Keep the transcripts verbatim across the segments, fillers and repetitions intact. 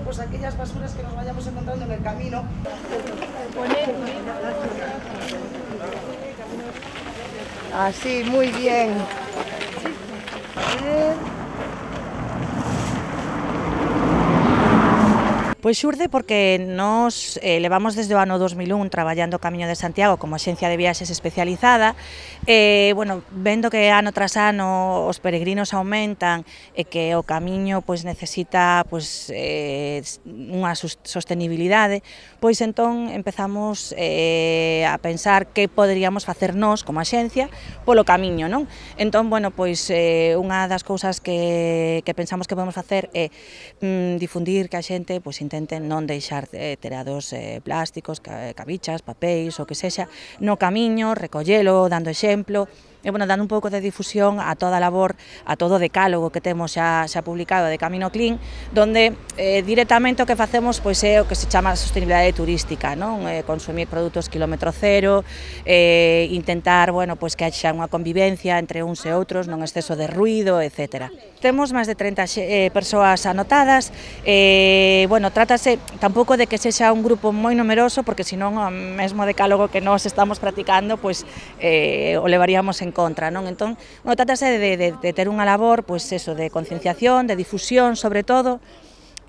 pues aquellas basuras que nos vayamos encontrando en el camino. Así, muy bien. A ver. Pois xurde porque nos eh, levamos desde o ano dos mil un traballando o Camiño de Santiago como axencia de viaxes especializada e, eh, bueno, vendo que ano tras ano os peregrinos aumentan e que o camiño pois, necesita pois, eh, unha sostenibilidade, pois entón empezamos eh, a pensar que poderíamos facer nós como axencia polo camiño, non? Entón, bueno, pois eh, unha das cousas que, que pensamos que podemos facer é mm, difundir que a xente pois, intenten non deixar eh, terados eh, plásticos, cabichas, papéis, o que sexa, no camiño, recollelo, dando exemplo, e, bueno, dando un pouco de difusión a toda a labor, a todo o decálogo que temos xa, xa publicado de Camino Clean, donde eh, directamente o que facemos pois, é o que se chama sostenibilidade turística, non? Eh, consumir produtos kilómetro cero, eh, intentar, bueno, pois, que haxa unha convivencia entre uns e outros, non exceso de ruido, etcétera. Temos máis de trinta eh, persoas anotadas, e, bueno, trátase tampouco de que sexa un grupo moi numeroso, porque senón o mesmo decálogo que nós estamos practicando, pois, eh, o levaríamos en contra, non? Entón, bueno, trátase de, de, de ter unha labor, pois, eso, de concienciación, de difusión, sobre todo.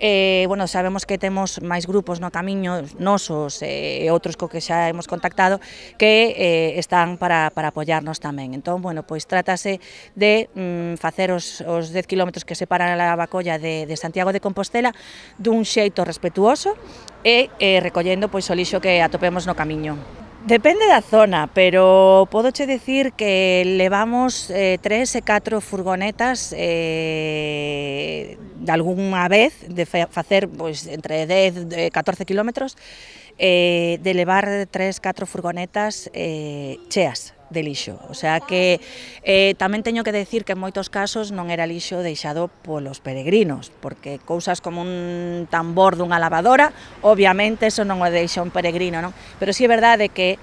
Eh, bueno, sabemos que temos máis grupos no camiño, nosos e eh, outros co que xa hemos contactado, que eh, están para, para apoiarnos tamén. Entón, bueno, pois trátase de mm, facer os, os dez kilómetros que separan a Lavacolla de, de Santiago de Compostela dun xeito respetuoso e eh, recollendo pois, o lixo que atopemos no camiño. Depende da zona, pero podoche dicir que levamos eh, tres e catro furgonetas eh, de algunha vez de facer pois, entre dez e catorce kilómetros, eh, de levar tres, catro furgonetas eh, cheas de lixo, o sea que eh, tamén teño que decir que en moitos casos non era lixo deixado polos peregrinos, porque cousas como un tambor dunha lavadora, obviamente eso non o deixa un peregrino, non? Pero si é verdade que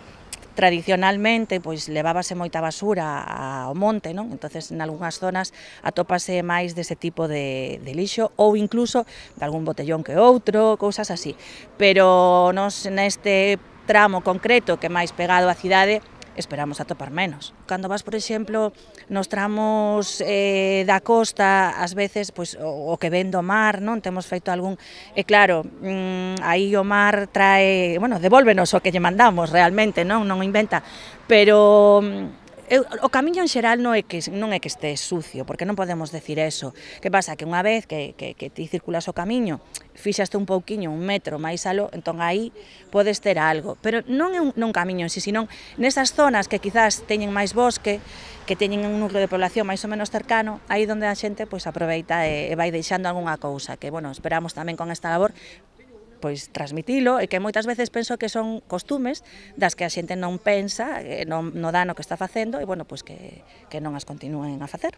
tradicionalmente pois levábase moita basura ao monte, non? Entonces, en algunhas zonas atópase máis dese tipo de, de lixo ou incluso de algún botellón que outro, cousas así. Pero nos neste tramo concreto que é máis pegado á cidade, esperamos atopar menos. Cando vas, por exemplo, nos tramos eh, da costa, ás veces, pois, o, o que ven do mar, non? Temos feito algún... E claro, mmm, aí o mar trae... Bueno, devólvenos o que lle mandamos, realmente, non? Non inventa. Pero... Eu, o camiño en xeral non é, que, non é que este sucio, porque non podemos decir eso. Que pasa? Que unha vez que, que, que ti circulas o camiño, fixaste un pouquiño, un metro máis aló, entón aí podes ter algo. Pero non é un, non camiño en si, senón nesas zonas que quizás teñen máis bosque, que teñen un núcleo de población máis ou menos cercano, aí onde a xente pois, aproveita e, e vai deixando algunha cousa, que, bueno, esperamos tamén con esta labor pois transmitilo, e que moitas veces penso que son costumes das que a xente non pensa, non, no dano que está facendo, e bueno, pois que, que non as continúen a facer.